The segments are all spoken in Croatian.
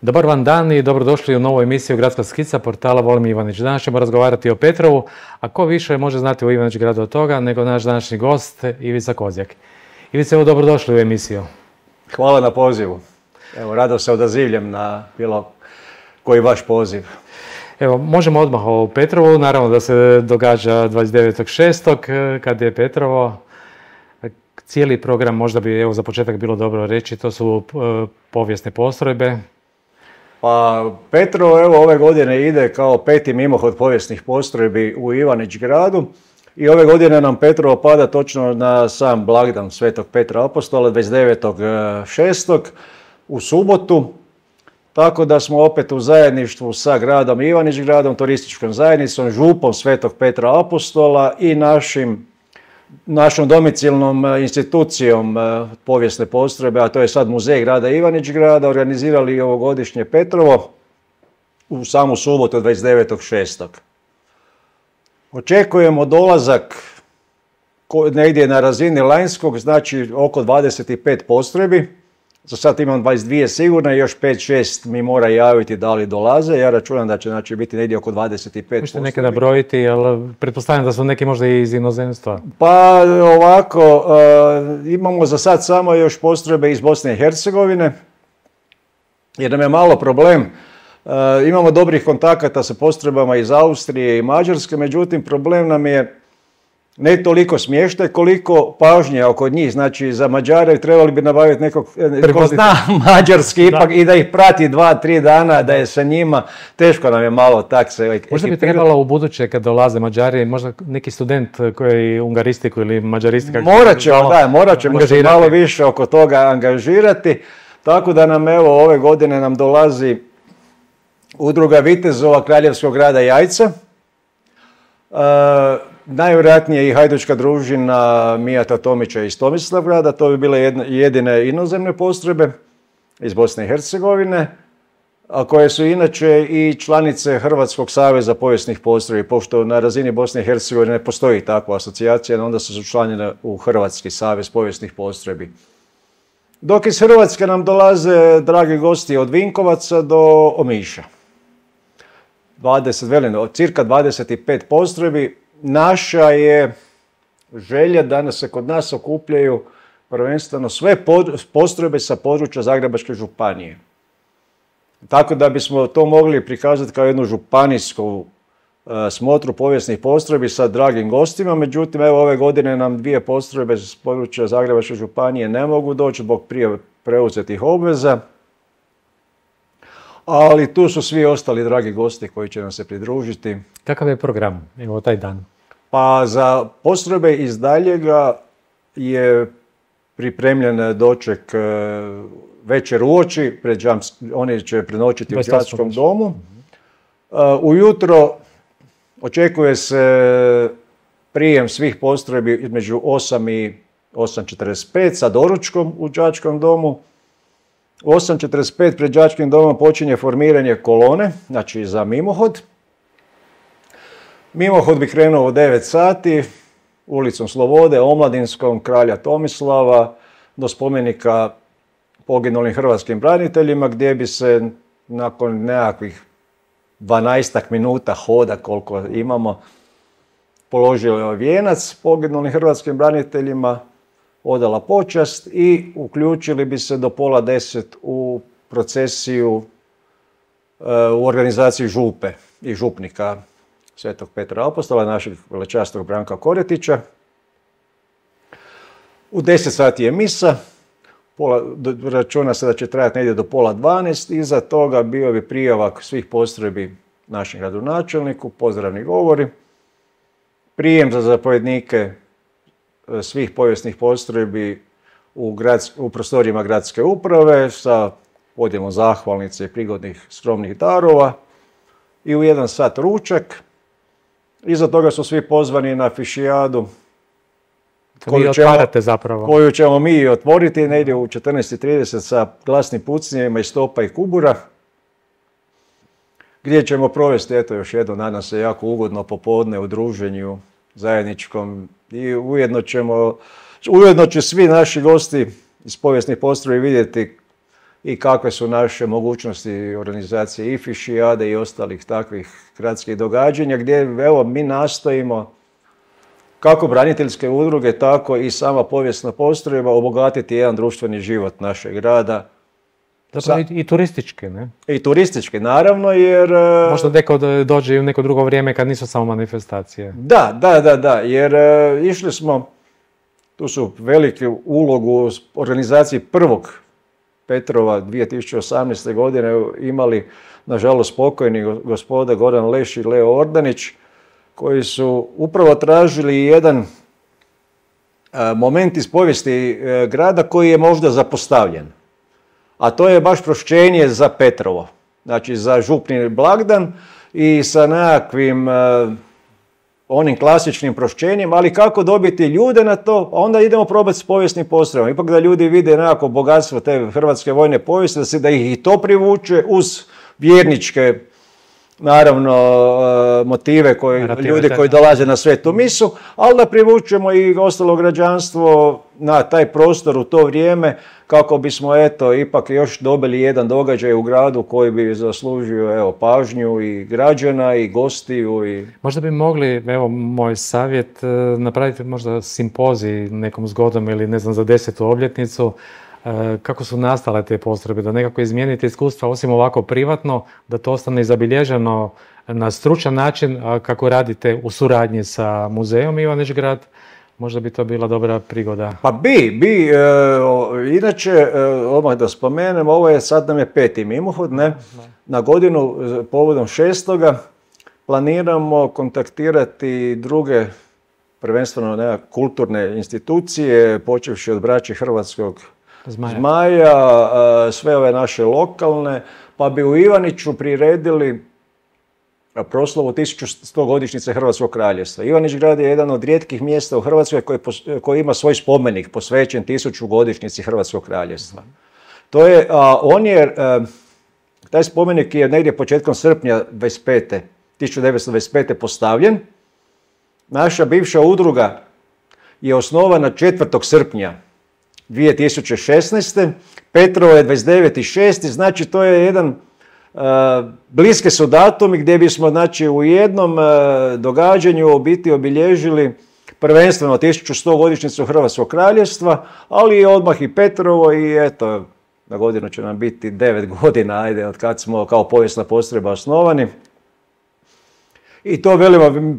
Dobar vam dan i dobrodošli u novu emisiju Gradska skica portala Volim Ivanić. Danas ćemo razgovarati o Petrovu, a ko više može znati o Ivanić gradu od toga nego naš današnji gost Ivica Kozjak. Ivica, evo dobrodošli u emisiju. Hvala na pozivu. Evo, rado se odazivljem na bilo koji vaš poziv. Evo, možemo odmah o Petrovu, naravno da se događa 29.6. kad je Petrovo. Cijeli program možda bi evo za početak bilo dobro reći, to su povijesne postrojbe. Pa Petrovo evo ove godine ide kao 5. mimohod povijesnih postrojbi u Ivanić gradu i ove godine nam Petrovo pada točno na sam blagdan Svetog Petra Apostola 29.6. u subotu. Tako da smo opet u zajedništvu sa gradom Ivanić gradom, turističkom zajednicom, župom Svetog Petra Apostola i našom domicilnom institucijom povijesne postrojbe, a to je sad Muzej grada Ivanić grada, organizirali ovogodišnje Petrovo u samu subotu 29.6. Očekujemo dolazak negdje na razini lanjskog, znači oko 25 postrojbi. Za sad imam 22 sigurno i još 5-6 mi mora javiti da li dolaze. Ja računam da će biti negdje oko 25 Možete nekada brojiti, ali pretpostavljam da su neki možda i iz inozemstva. Pa ovako, imamo za sad samo još postrojbe iz Bosne i Hercegovine, jer nam je malo problem. Imamo dobrih kontakata sa postrojbama iz Austrije i Mađarske, međutim problem nam je ne toliko smještaj, koliko pažnje oko njih. Znači, za Mađare trebali bi nabaviti nekog ko zna mađarski ipak i da ih prati 2-3 dana, da je sa njima. Teško nam je malo tak se... Možda bi trebalo u buduće kad dolaze Mađari, možda neki student koji ungaristiku ili mađaristiku... Morat ćemo se malo više oko toga angažirati. Tako da nam evo ove godine nam dolazi udruga vitezova Kraljevskog grada Jajca. Najvjerojatnije i hajdučka družina Mijata Tomića iz Tomislavgrada, to bi bile jedine inozemne postrojbe iz Bosne i Hercegovine, a koje su inače i članice Hrvatskog saveza povijesnih postrojbi, pošto na razini Bosne i Hercegovine ne postoji takva asocijacija, onda su učlanjene u Hrvatski savez povijesnih postrojbi. Dok iz Hrvatske nam dolaze dragi gosti od Vinkovaca do Omiša. Cirka 25 postrojbi. Naša je želja da se kod nas okupljaju prvenstveno sve postrojbe sa područja Zagrebačke županije. Tako da bismo to mogli prikazati kao jednu županijsku smotru povijesnih postrojbi sa dragim gostima. Međutim, evo ove godine nam 2 postrojbe s područja Zagrebačke županije ne mogu doći zbog prije preuzetih obveza. Ali tu su svi ostali dragi gosti koji će nam se pridružiti. Kakav je program, evo taj dan? Pa za postrojbe iz daljega je pripremljen doček večer uoči, oni će prenoćiti u đačkom domu. Ujutro očekuje se prijem svih postrojbi između 8 i 8:45 sa doručkom u đačkom domu. U 8:45 pred đačkim domom počinje formiranje kolone, znači za mimohod. Mimohod bi krenuo u 9 sati, ulicom Slobode, Omladinskom, Kralja Tomislava, do spomenika poginulim hrvatskim braniteljima, gdje bi se nakon nekakvih 12 minuta hoda koliko imamo, položio vijenac poginulim hrvatskim braniteljima, odala počast i uključili bi se do 9:30 u procesiju u organizaciji župe i župnika Svetog Petra Apostola, našeg velečasnog Branka Koretića. U 10 sati je misa, računa se da će trajati negdje do 11:30, iza toga bio bi prijavak svih postrojbi našem gradonačelniku, pozdravni govori, prijem za zapovjednike svih povijesnih postrojbi u prostorijama gradske uprave sa podjelom zahvalnice i prigodnih skromnih darova i u 1 sat ručak. Iza toga su svi pozvani na fišijadu koju ćemo mi otvoriti negdje u 14:30 sa glasnim pucnjevima iz topa i kubura, gdje ćemo provesti, eto još jedno, nadam se, jako ugodno popodne u druženju zajedničkom i ujedno će svi naši gosti iz povijesnih postrojbi vidjeti i kakve su naše mogućnosti organizacije i Fišijade i ostalih takvih gradskih događanja gdje evo mi nastojimo kako braniteljske udruge, tako i sama povijesna postrojba obogatiti jedan društveni život našeg grada. Zapravo i turistički, ne? I turistički, naravno, jer... Možda neko dođe i u neko drugo vrijeme kad nisu samo manifestacije. Da, jer išli smo, tu su veliki ulogu u organizaciji prvog Petrova 2018. godine imali, nažalost, pokojni gospoda Goran Leš i Leo Ordanić, koji su upravo tražili jedan moment iz povijesti grada koji je možda zapostavljen. A to je baš prošćenje za Petrovo. Znači za župni blagdan i sa nekakvim onim klasičnim prošćenjem, ali kako dobiti ljude na to, onda idemo probati s povijesnim postrojbama. Ipak da ljudi vide nekako bogatstvo te hrvatske vojne povijesti, da ih i to privuče uz vjerničke, naravno, motive ljudi koji dolaze na svetu misu, ali da privučemo i ostalo građanstvo na taj prostor u to vrijeme kako bismo ipak još dobili jedan događaj u gradu koji bi zaslužio pažnju i građana i gostiju. Možda bi mogli, moj savjet, napraviti možda simpozij nekom zgodom ili ne znam za 10. obljetnicu, kako su nastale te postrojbe, da nekako izmijenite iskustva, osim ovako privatno, da to ostane zabilježeno na stručan način, kako radite u suradnji sa muzejom Ivanić Grad, možda bi to bila dobra prigoda. Pa bi. Inače, odmah da spomenem, ovo je sad nam je 5. mimohod, ne? Na godinu povodom 6. planiramo kontaktirati druge, prvenstveno kulturne institucije, počevši od Braće Hrvatskog Zmaja, sve ove naše lokalne, pa bi u Ivaniću priredili proslavu 1100 godišnjice Hrvatskog kraljevstva. Ivanić Grad je jedan od rijetkih mjesta u Hrvatskoj koji ima svoj spomenik posvećen 1000 godišnjici Hrvatskog kraljevstva. Taj spomenik je negdje početkom srpnja 1925. postavljen. Naša bivša udruga je osnovana 4. srpnja 2016. Petrovo je 29.6. Znači to je jedan bliske su datumi gdje bismo u jednom događanju u biti obilježili prvenstveno 1100 godišnjicu Hrvatskog kraljevstva, ali odmah i Petrovo i na godinu će nam biti 9 godina, od kad smo kao povijesna postrojba osnovani. I to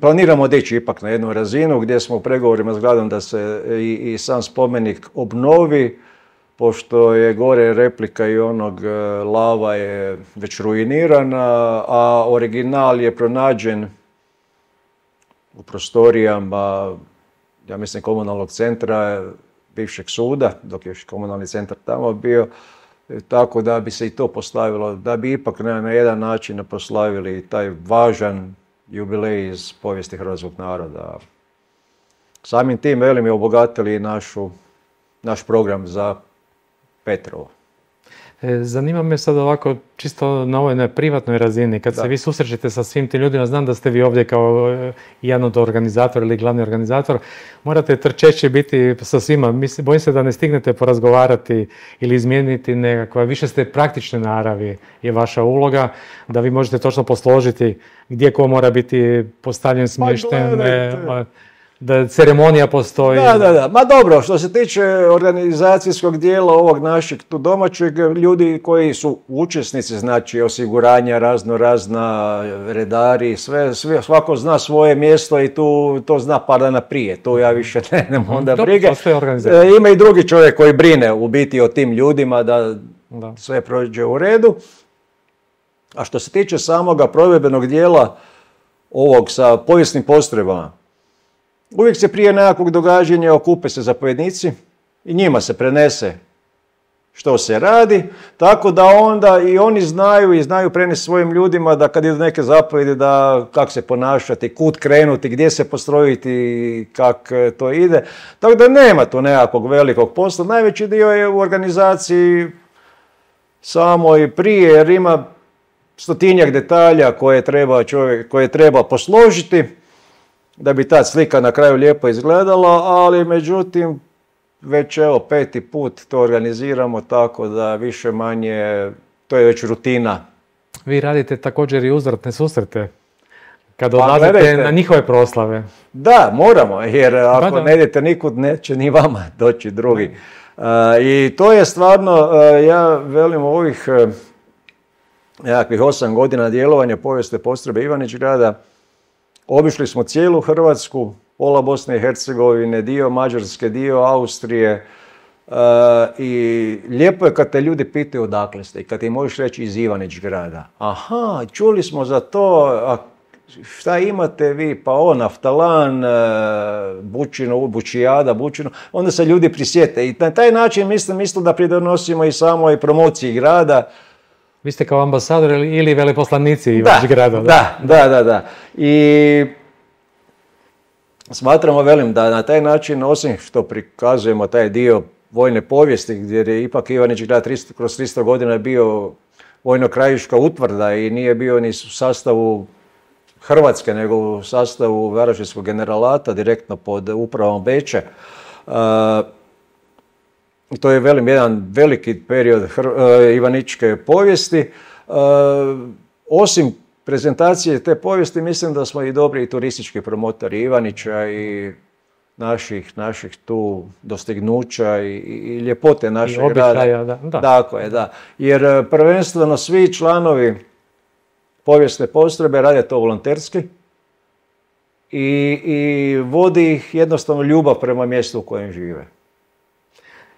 planiramo dići ipak na jednu razinu gdje smo u pregovorima s gradom da se i sam spomenik obnovi, pošto je gore replika i onog lava je već ruinirana, a original je pronađen u prostorijama, ja mislim, komunalnog centra bivšeg suda, dok je još komunalni centar tamo bio, tako da bi se i to postavilo, da bi ipak na jedan način proslavili taj važan jubilej iz povijesti hrvatskog naroda. Samim tim, je obogatili naš program za Petrovo. Zanima me sad ovako, čisto na ovoj privatnoj razini, kad se vi susrećete sa svim tim ljudima, znam da ste vi ovdje kao jedan od organizatora ili glavni organizator, morate trčeći biti sa svima. Bojim se da ne stignete porazgovarati ili izmijeniti nekakva, više ste praktične naravi je vaša uloga, da vi možete točno posložiti gdje ko mora biti postavljen, smješten, da ceremonija postoji. Da. Ma dobro, što se tiče organizacijskog dijela ovog našeg tu domaćeg, ljudi koji su učesnici, znači osiguranja, razna redari, svako zna svoje mjesto i to zna par dana prije. Tu ja više nemam onda brige. Ima i drugi čovjek koji brine u biti o tim ljudima da sve prođe u redu. A što se tiče samoga provedbenog dijela ovog sa povijesnim postrojbama, uvijek se prije nekakvog događanja okupe se zapovjednici i njima se prenese što se radi, tako da onda i oni znaju prenesti svojim ljudima da kad idu neke zapovjedi da kako se ponašati, kud krenuti, gdje se postrojiti, kak to ide. Tako da nema tu nekakvog velikog posla. Najveći dio je u organizaciji samo i prije, jer ima stotinjak detalja koje treba posložiti da bi ta slika na kraju lijepo izgledala, ali međutim već evo 5. put to organiziramo tako da više manje to je već rutina. Vi radite također i uzvratne susrete kad odlazite na njihove proslave. Da, moramo, jer ako ne idete nikud, neće ni vama doći drugi. I to je stvarno, ja velim, ovih nekakvih 8 godina djelovanja povijesne postrojbe Ivanić-Grada, obišli smo cijelu Hrvatsku, pola Bosne i Hercegovine, dio Mađarske, dio Austrije, i lijepo je kad te ljudi pitaju odakle ste i kad im možeš reći iz Ivanić-Grada. Aha, čuli smo za to, a šta imate vi? Pa naftalan, bučino, bučijada, bučino. Onda se ljudi prisjete i na taj način mislim da pridonosimo i samoj promociji grada. Vi ste kao ambasador ili veleposlanici Ivanić-Grada. Da. I smatramo, velim, da na taj način, osim što prikazujemo taj dio vojne povijesti, gdje je ipak Ivanić-Grad kroz 300 godina bio vojno-krajiška utvrda i nije bio ni u sastavu Hrvatske, nego u sastavu Varaždinskog generalata, direktno pod upravom Beča. To je, velim, jedan veliki period ivaničke povijesti. Osim prezentacije te povijesti, mislim da smo i dobri i turistički promotori Ivanića i naših tu dostignuća i ljepote našeg grada. Tako je, da. Jer prvenstveno svi članovi povijesne postrojbe rade to volonterski i vodi ih jednostavno ljubav prema mjestu u kojem žive.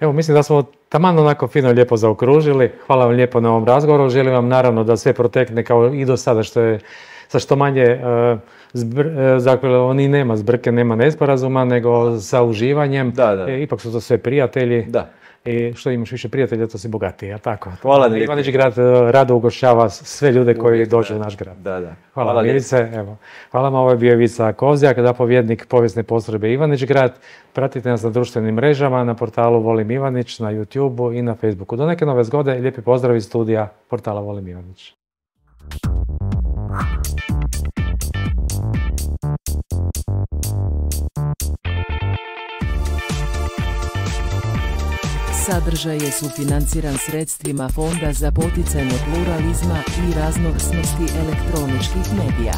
Evo, mislim da smo taman onako fino lijepo zaokružili. Hvala vam lijepo na ovom razgovoru. Želim vam naravno da sve protekne kao i do sada, sa što manje oni nema zbrke, nema nesporazuma, nego sa uživanjem. Da. Ipak su to sve prijatelji. Da. I što imaš više prijatelja, to si bogatiji, a tako? Hvala. Ivanić-Grad rado ugošćava sve ljude koji dođu u naš grad. Da. Hvala Milice. Evo. Hvala vam, ovo je bio Ivica Kozjak, zapovjednik povijesne postrojbe Ivanić-Grad. Pratite nas na društvenim mrežama, na portalu Volim Ivanić, na YouTubeu i na Facebooku. Do neke nove zgode, lijepi pozdrav iz studija portala Volim Ivanić. Sadržaj je sufinanciran sredstvima Fonda za poticanje pluralizma i raznovrsnosti elektroničkih medija.